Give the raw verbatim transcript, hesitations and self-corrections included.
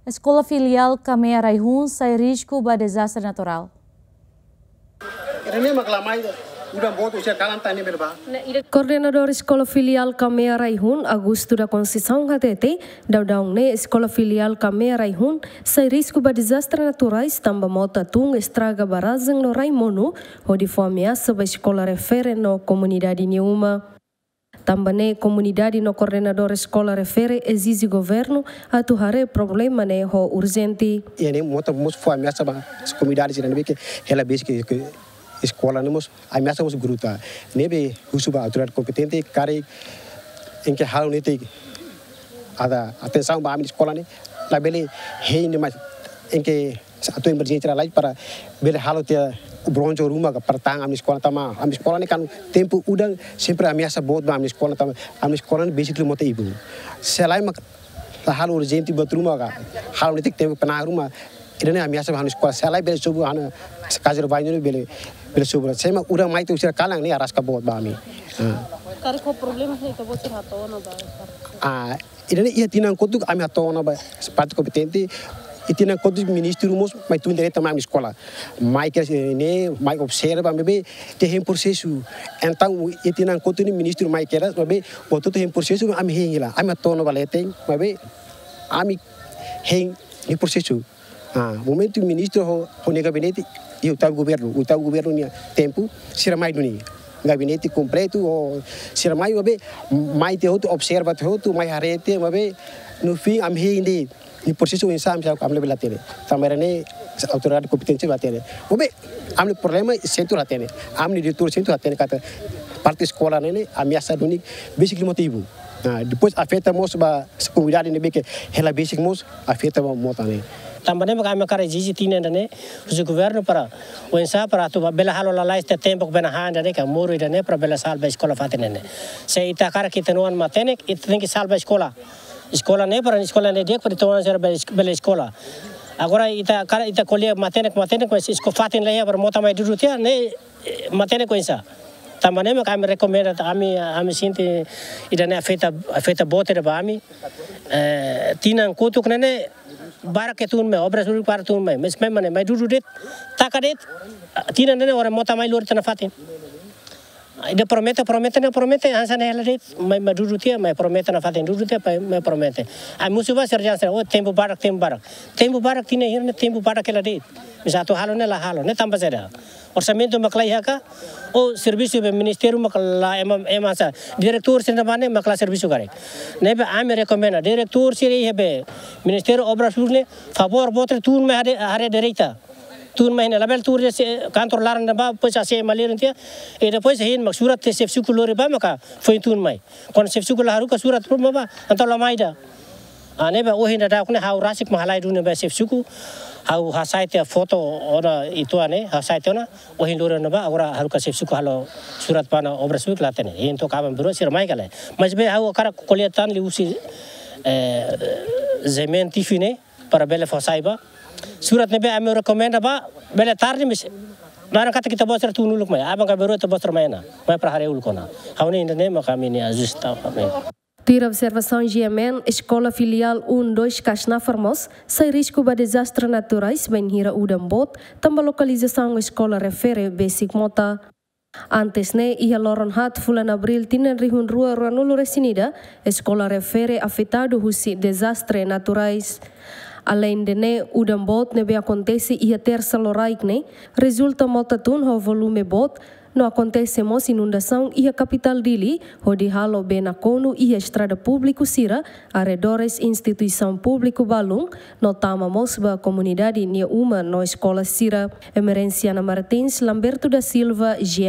Eskola Filiál Kamea Raihun sai risku ba dezastre naturál. Ida-ne'e mak la mai, udan boot husi kalan tan ne'e bele bá. Koordenadór Eskola Filiál Kamea Raihun, Augusto da Conceição hatete, daudaun ne'e Eskola Filiál Kamea Raihun sai risku ba dezastre naturais tanba mota tun estraga barrajen no rai monu, hodi fó ameasa ba eskola refere no komunidade nia uma. Tanba ne'e komunidade no koordenadór eskola refere ezije governu atu haree problema ne'e ho urjente. Iha ne'e mota mós fó ameasa ba komunidade sira ne'ebé ke hela besik ke, ke eskola ne'e mós ameasa mós gruta. Ne'ebé husu ba autoridade kompetente karik enke halo netik ada atensaun ba ami eskola ne'e, labele hein ne'e mais enke atu emerjénsia lalais para bele halo tiha bronjo ruma ka para tahan ami eskola tanba ami eskola ne'e kan tempu udan sempre ameasa boot ba ami eskola tanba ami eskola ne'e besik liu mota ibun. Se lae mak la halo urjente buat ruma ka halo netik tempu pena ruma. Ida-ne'e ameasa ba ami eskola. Se lae bele sobu hana kazu bainho ne'e bele, bele sobu. Se mak udan mai to'o sira kalan ne'e araska boot ba ami. Ah. Karik ho problema ne'e ita-boot sira hato'o ona ba. Ah, ida-ne'e iha tinan kotuk ami hato'o ona ba parte kompetente. Iha tinan kotuk ministru mós mai tun direta mai ami eskola. Mai kedas ne'e, mai observa, maibé ita hein prosesu. Entaun iha tinan kotuk ne'e ministru mai kedas, maibé buat hotu hein prosesu, ami hein hela. Ami hato'o ona ba leten, maibé ami hein, hein prosesu. Ah, momentu ministru ho, ho nia gabinete, iha oitavu governu, oitavu governu nia tempu, sira mai duni. Gabinete kompletu, ho sira mai, maibé mai tiha hotu, observa tiha hotu, mai haree tiha, maibé no fim ami hein de'it. Nia prosesu oinsá ami sa, ami labele hatene. Tanba ne'e autoridade kompetente bele hatene. Maibé ami problema sentru hatene. Ami diretór sentru hatene katak parte eskola ne'e ne'e ameasa duni besik liu mota ibun. Ah, depois afeta mós ba komunidade ne'ebé ke hela besik mós afeta ba mota ne'e. Tanba ne'e mak ami hakarak ezije tinan ida-ne'e husi governu para oinsá para atu ba bele halo lalais tiha tempu ke bele han ida-ne'e ka moru ida-ne'e para bele salva eskola fatin ne'e ne'e. Se ita hakarak ita-nia oan matenek, ita tenke salva eskola. Eskola ne'e para eskola ne'e di'ak para ita-nia oan sira bele, bele eskola. Agora ita hakarak ita ko'alia matenek, matenek, mas eskola fatin la iha para mota mai dudu tiha ne'e, eh, matenek oinsá. Tanba ne'e mak ami rekomenda, ami, ami sente ida-ne'e afeta, afeta boot ida ba ami. Eh, tinan kotuk ne'e ne'e barak ke tun mai, Obras Públikas barak tun mai. Mas memang ne'e mai dudu de'it, taka de'it, tinan ne'e ne'e oras mota mai lori tiha ona fatin. Ida promete, promete, ne'e promete, hanesan ne'e hela de'it, mai, mai dudu tiha, mai promete ona fatin dudu tiha, mai, mai promete. Ami husu ba sira dehan sira, oh, tempu barak, tempu barak. Tempu barak tinan hira ne'e tempu barak hela de'it. Mas atu halo ne'e la halo, ne'e tanba saida? Orsamentu mak la iha ka, ou servisu be ministériu mak la ema, ema sa. Diretór sira ne'ebá ne'e mak la servisu karik. Ne'ebé ami rekomenda, diretór sira iha be Ministériu Obras Públikas ne'e, favór boot tun mai haree, haree direita. Tun mai ne'e labele tun de'it iha kantor laran ne'ebá, depois A C M malirin tiha. I depois hein mak surat tiha xefe suku lori bá maka foin tun mai. Kuandu xefe suku la haruka surat ruma bá, entaun la mai ida. Ah, ne'ebé ohin daudauk ne'e ha'u rasik mak halai duni ba xefe suku. Ha'u hasai tiha foto ona ituan ne'e, hasai tiha ona. Ohin lori ona bá, agora haruka xefe suku halo surat ba Obras Públikas la hatene. Hein to'o aban-bainrua sira mai ka lae. Mas be ha'u hakarak ko'alia tan liuhusi, eh, G M N T V ne'e, para bele fó sai bá. Surat ne'ebé ami rekomenda bá, bele tarde, mas naran katak ita-boot sira tun uluk mai. Aban ka aban-bainrua ita-boot sira mai ona. Mai para haree uluk ona. Ha'u-nia ida-ne'e mak ami-nia ajusta, ami. Tuir observasaun G M N, Eskola Filiál um dois Kasnafar mós sai risku ba dezastre naturais bainhira udan boot, tanba lokalizasaun eskola refere besik mota. Antes ne'e, iha loron haat fulan Abríl tinan rihun rua ruanulu-resin-ida, eskola refere afetadu husi dezastre naturais. Aleinde ne'e, udan boot ne'ebé akontese iha Tersa loraik ne'e, rezulta mota tun ho volume boot, no akontese mós inundasaun iha kapitál Dili, hodi halo bee nakonu iha estrada públiku sira, arredores instituisaun públiku balun, no tama mós ba komunidade nia uma no eskola sira. Emerenciana Martins, Lamberto da Silva, G M N.